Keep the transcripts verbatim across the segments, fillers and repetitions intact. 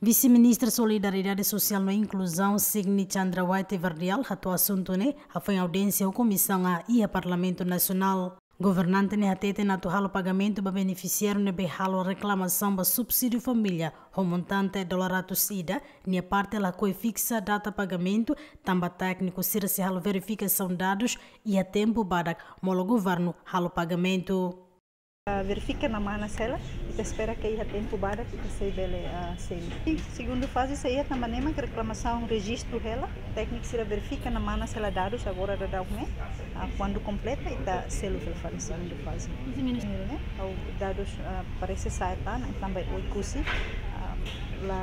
Vise-Ministra Solidariedade Sosiál no Inkluzaun, Signy Chandrawati Verdial, hato'o asuntu ne'e hafoin audiénsia ho komisaun A iha Parlamentu Nasionál. Governante ne'e hateten atu halo pagamentu ba benefisiáriu ne'ebé halo reklamasaun ba subsídiu família ho montante dolar ratus ida, nia parte lakohi fiksa data pagamentu, tanba tékniku sira sei halo verifikasaun dadus iha tempu badak molok governu halo pagamentu. Ah, verifika namas hela, ita espera ke iha tempu badak ita sei bele, ah, selu. Segundu faze sei iha tanba ne'e mak reklamasaun rejistu hela, tékniku sira verifika namas hela dadus agora daudaun ne'e, ah, kuandu kompleta ita selu fali segundu faze. Ne'e, ha'u dadus, ah, parese sa'e tan, tanba Oekusi, ah, la,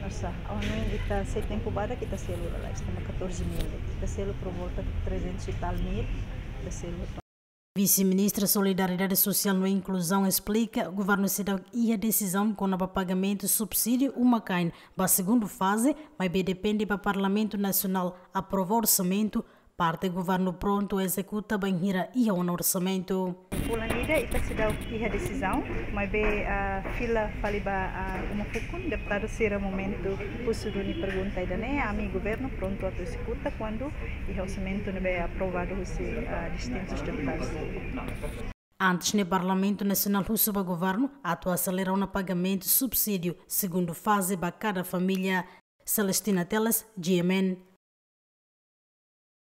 nosa, ha'u hanoin ita sei tempu badak ita selu lalais, tanba catorze mil, ita selu por volta de trezentos e tal mil, ita selu. Vise-Ministra Solidariedade Sosiál no Inkluzaun esplika, governu seidauk iha desizaun kona-ba pagamentu subsídiu uma-kain ba segundu faze, maibé depende ba Parlamentu Nasionál aprova orsamentu, parte governu prontu ezekuta bainhira iha ona orsamentu. Fulan ida ita seidauk iha desizaun, maibé, ah, fila fali ba, ah, uma fukun, deputadu sira momentu husu duni pergunta ida-ne'e, ami governu prontu atu ezekuta kuandu iha orsamentu ne'ebé aprovadu husi, ah, distintus deputadus. Antes ne'e Parlamentu Nasionál husu ba governu atu aselera ona pagamentu subsídiu segundu faze ba kada família. Celestina Teles, G M N.